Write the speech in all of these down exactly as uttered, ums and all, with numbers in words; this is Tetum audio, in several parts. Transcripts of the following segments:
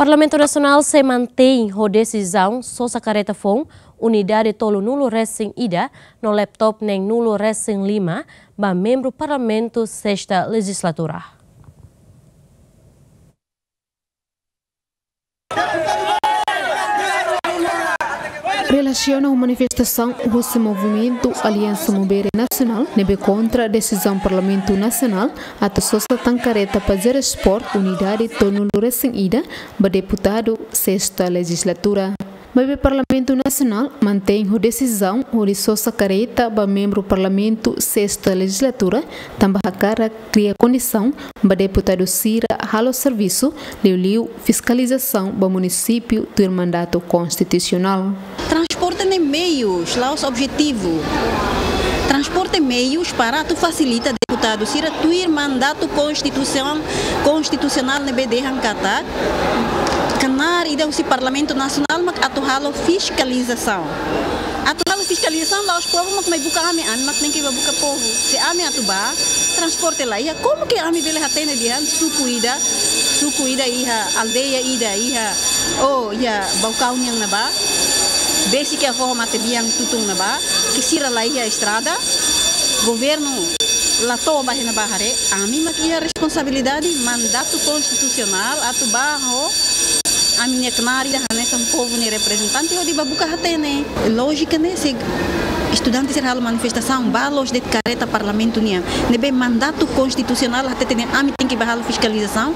Parlamentu Nasionál sei mantein ho desizaun sosa kareta foun unidade tolunulu resin ida no laptop neenulu resin lima ba membru Parlamentu sesta lejizlatura. Relasiona ho manifestasaun husi movimentu Aliansa Maubere Nasionál ne'ebé kontra desizaun Parlamentu Nasionál atu sosa tan kareta Pajero Sport unidade tolunulu resin ida ba deputadu sesta lejizlatura. Maibé Parlamentu Nasionál mantein ho desizaun hodi sosa kareta ba membru Parlamentu sesta lejizlatura, tanba hakarak kria kondisaun ba deputadu sira halo servisu, liuliu fiskalizasaun ba munisípiu tuir mandatu konstitusionál. Transporte ne'e meius, la'ós objetivu. Transporte meius para atu fasilita deputadu sira tuir mandatu konstituisaun, konstitusionál ne'ebé dehan katak knaar ida husi Parlamentu Nasionál mak atu halo fiskalizasaun. Atu halo fiskalizasaun la'ós povu mak mai buka ami, ami mak tenke ba buka povu. Se ami atu bá, transporte la iha, komu ke ami bele hatene dehan suku ida, suku ida iha, aldeia ida iha, ou iha Baucau nian ne'ebá, besik iha foho matebian Tutun ne'ebá, ke sira la iha estrada, governu la to'o ba iha ne'ebá haree, ami mak iha responsabilidade, mandatu konstitusionál atu bá ho ami-nia knaar ida hanesan povu nia reprezentante hodi ba buka hatene. Lójika ne'e, se estudante sira halo manifestasaun, bá loos de'it kareta Parlamentu nian, ne'ebé mandatu konstitusionál hatete ne'e ami tenke ba halo fiskalizasaun.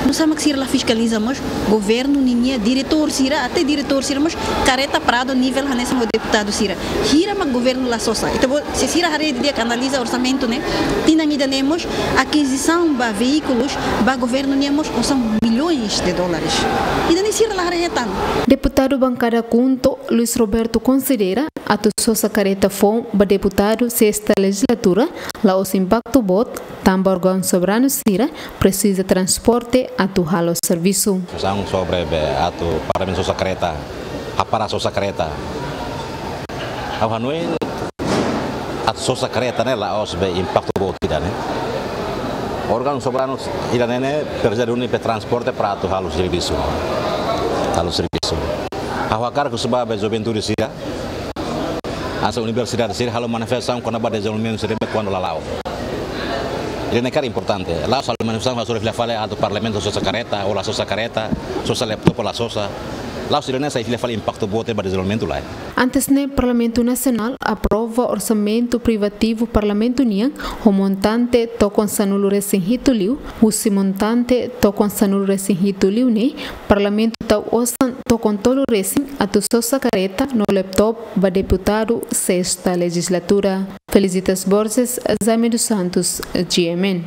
Nusá mak sira la fiskaliza mós governu ninia diretór sira, até diretór sira mós kareta Prado nivel hanesan ho deputadu sira. Hira mak governu la sosa. Ita-boot, se sira haree didi'ak, analiza orsamentu ne'e, tinan ida-ne'e mós akizisaun ba veíkulus ba governu nian mós osan milhões de dólares. Ida-ne'e sira la haree hetan. Deputadu bankada KHUNTO, Luis Roberto, konsidera atu sosa kareta foun ba deputadu sesta lejizlatura la'ós impaktu boot, tanba órgaun soberanu sira presiza transporte atu halo servisu. Diskusaun sobre be atu Parlamentu sosa kareta, hapara sosa kareta. Ha'u hanoin atu sosa kareta ne'e la'ós be impaktu boot ida ne'e. Órgaun soberanu ida ne'e ne'e presiza duni be transporte para atu halo servisu. Halo servisu. Ha'u hakarak husu ba be juventude sira, hanesan universidade sira halo manifestasaun kona-ba dezenvolvimentu sira ne'ebé kuandu la la'o. Ida-ne'e karik importante. La'ós halo manifestasaun hasoru fila fali atu Parlamentu sosa kareta, ou la sosa kareta, sosa laptop ou la sosa. La'ós ida-ne'e sai fila fali impaktu boot ba dezenvolvimentu, lae. Antes ne'e, Parlamentu Nasionál aprova orsamentu privativu Parlamentu nian ho montante tokon sanulu resin hitu liu, husi montante tokon sanulu resin hitu liu ne'e, Parlamentu tau osan tokon tolu resin atu sosa kareta no laptop ba deputadu sesta lejizlatura. Felicitas Borges, Jaime dos Santos, G M N.